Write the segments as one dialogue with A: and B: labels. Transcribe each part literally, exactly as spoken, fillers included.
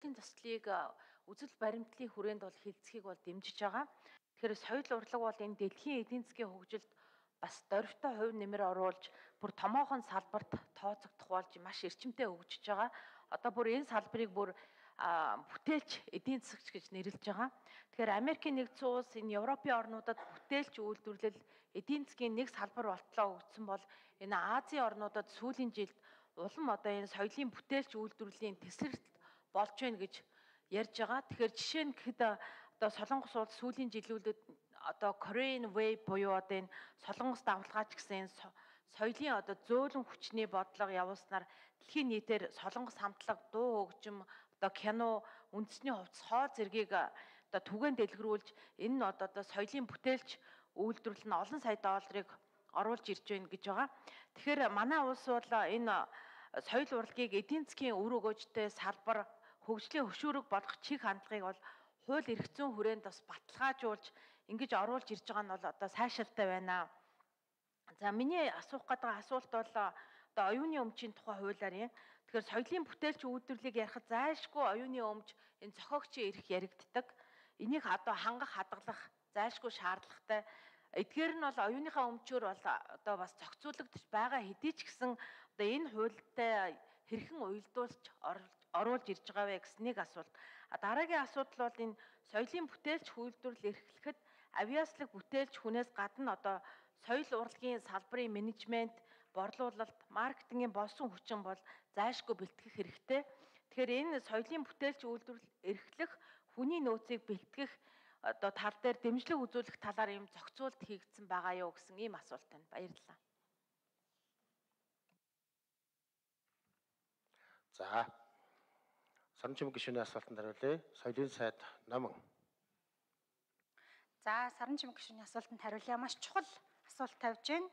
A: урлагийн заслыг үзэл баримтлалын хүрээнд бол хилцхийг бол дэмжиж байгаа. Тэгэхээр соёл урлаг бол энэ дэлхийн эдийн засгийн хөгжилд бас дорвитой хувь нэмэр оруулж бүр томоохон салбарт тооцогдох болж маш эрчимтэй хөгжиж байгаа. Одоо бүр энэ салбарыг бүр бүтээлч эдийн засагч гэж нэрлэж байгаа. Тэгэхээр Америкийн нэгдсэн улс энэ Европын орнуудад бүтээлч үйлдвэрлэл эдийн засгийн нэг салбар болтлоо өгсөн бол энэ Азийн орнуудад сүүлийн жилд улам одоо энэ соёлын бүтээлч үйлдвэрлэлийн тесрэлт болж байна гэж ярьж байгаа. Тэгэхээр жишээ нь гэхэд одоо Солонгос улс сүүлийн жилүүдэд одоо Korean Wave буюу одоо энэ Солонгос давталгаач гэсэн соёлын одоо зөөлөн хүчний бодлого явуулснаар дэлхийн нийтээр Солонгос хамтлаг, дуу хөгжим, одоо кино, үндэсний хувцас, хоол зэргийг одоо түгээн дэлгэрүүлж энэ нь одоо одоо соёлын бүтээлч үйлдвэрлэл нь олон сая долларыг оруулж ирж байна гэж байгаа. Тэгэхээр манай улс бол энэ соёл урлагийг эдийн засгийн үр өгөөжтэй салбар, хөгжлийн хөшүүрэг болгох чиг хандлагыг бол хууль эрх зүйн хүрээнд бас баталгаажуулж ингэж оруулж ирж байгаа нь бол одоо сайшаалтай байна. За миний асуух гэдэг асуулт бол одоо оюуны өмчийн тухай хуулиар юм. Тэгэхээр соёлын бүтээлч үйлдвэрлэлийг ярихад зайлшгүй оюуны өмч энэ зохиогчийн эрх яригддаг. Энийг одоо хангах, хадгалах зайлшгүй шаардлагатай. Эдгээр нь бол оюуныхаа өмчөөр бол одоо бас зохицуулагдж байгаа хэдий ч гэсэн одоо энэ хуультай хэрхэн уялдуулж оруулж ирж байгаа вэ гэсэн нэг асуулт. Дараагийн асуудал бол энэ соёлын бүтээлч үйлдвэрлэл эрхлэхэд авиаслаг бүтээлч хүнээс гадна одоо соёл урлагийн салбарын менежмент, борлуулалт, маркетингийн болсон хүчин бол зайлшгүй бэлтгэх хэрэгтэй. Тэгэхээр энэ соёлын бүтээлч үйлдвэрлэл эрхлэх хүний нөөцийг бэлтгэх одоо тал дээр дэмжлэг үзүүлэх талаар юм зохицуулт хийгдсэн байгаа юу гэсэн ийм асуулт байна. Баярлалаа.
B: За. Саранчим гишүүний асуултанд хариулъя. Соёлын сайд Номон.
C: За, Саранчим гишүүний асуултанд хариулъя. Маш чухал асуулт тавьж байна.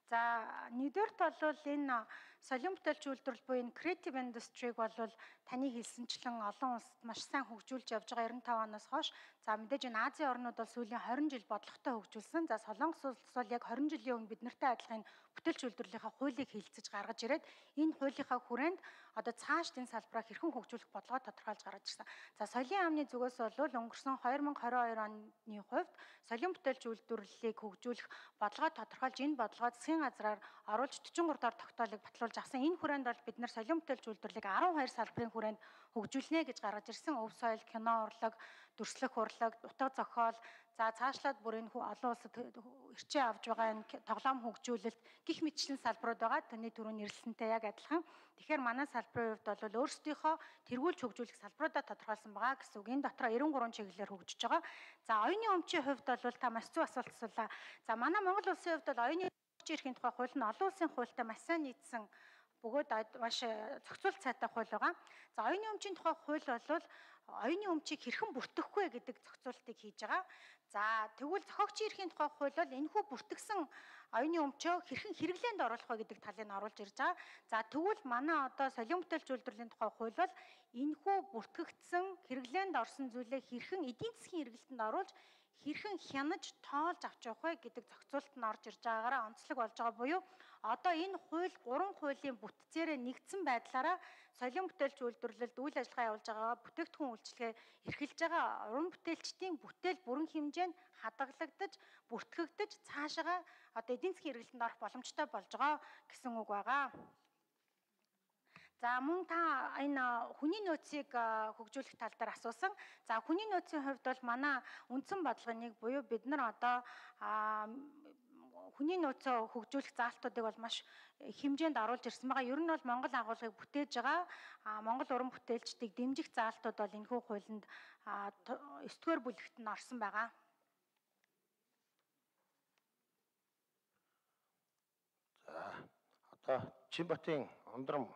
C: За, нэгдүгээрт бол энэ соёлын бүтээлч үйлдвэрлэл буюу энэ creative industry-г бол таны хэлсэнчлэн олон улсад маш сайн хөгжүүлж явж байгаа ерөн таван оноос хойш. За, мэдээж энэ Азийн орнууд бол сүүлийн хорин жил бодлоготой хөгжүүлсэн. За, Солонгос улс бол яг хорин жилийн өмнө бид нартай адилхан бүтээлч үйлдвэрлэлийнхаа хуулийг хэлэлцэж гаргаж ирээд энэ хуулийнхаа хүрээнд одоо цааш энэ салбараа хэрхэн хөгжүүлэх бодлогоо тодорхойлж гаргаж ирсэн. За, соёлын яамны зүгээс бол өнгөрсөн две тысячи двадцать two оны хувьд соёлын бүтээлч үйлдвэрлэлийг хөгжүүлэх бодлогоо тодорхойлж энэ бодлогоо засгийн газраар оруулж forty-three доор тогтоолыг батлуулж авсан. Энэ хүрээнд бол бид нар соёлын бүтээлч үйлдвэрлэлийг twelve салбарын хүрээнд хөгжүүлнэ гэж гаргаж ирсэн. Өв соёл, кино урлаг, дүрслэх урлаг, утга зохиол, за цаашлаад бүр энэ олон улсад эрчээ авж байгаа энэ тоглоом хөгжүүлэлт гих мэтчлэн салбарууд байгаа. Таны түрүү нэрлэлсэнтэй яг адилхан. Тэгэхээр манай салбарын хувьд бол өөрсдийнхөө тэргүүлж хөгжүүлэх салбаруудаа тодорхойлсон байгаа гэсэн үг. Энэ дотор ninety-three чиглэлээр хөгжиж байгаа. За, оюуны өмчийн хувьд бол та маш зөв асуулт асуулаа. За, манай Монгол улсын хувьд бол оюуны эрхийн тухай хууль нь олон улсын хуультай маш сайн нийцсэн бөгөөд маш зохицуулт сайтай хууль байгаа. За, оюуны өмчийн тухай хууль бол оюуны өмчийг хэрхэн бүртгэхгүй гэдэг зохицуултыг хийж байгаа. За, тэгвэл зохиогчийн эрхийн тухай хууль бол энэхүү бүртгэсэн оюуны өмчөө хэрхэн хэрэглээнд оруулах вэ гэдэг талыг оруулж ирж байгаа. За, тэгвэл манай одоо соёлын бүтээлч үйлдвэрлэлийн тухай хууль бол энэхүү бүртгэгдсэн хэрэглээнд орсон зүйлээ хэрхэн эдийн засгийн хэрэглэлтэнд оруулж хэрхэн хянаж тоолж авч явах вэ гэдэг зохицуулт нь орж ирж байгаагаараа онцлог болж байгаа буюу одоо энэ хууль гурван хуулийн бүтцээрээ нэгдсэн байдлаараа соёлын бүтээлч үйлдвэрлэлд үйл ажиллагаа явуулж байгаа бүтээгдэхүүн үйлчилгээ эрхэлж байгаа уран бүтээлчдийн бүтээл бүрэн хэмжээнд хадгалагдаж, бүртгэгдэж цаашаа одоо эдийн засгийн хэрэглэлтэнд орох боломжтой болж байгаа гэсэн үг байгаа. За, мөн та энэ хүний нөөцийг хөгжүүлэх тал дээр асуусан. За, хүний нөөцийн хувьд бол манай үндсэн бодлогын нэг буюу бид нар одоо хүний нөөцөө хөгжүүлэх заалтуудыг бол маш хэмжээнд оруулж ирсэн байгаа. Ер нь бол Монгол агуулгыг бүтээж байгаа Монгол уран бүтээлчдийг дэмжих заалтууд бол энэхүү хуулинд ninth-р бүлэгт нь орсон байгаа.
B: За, одоо Чинбатын Ондром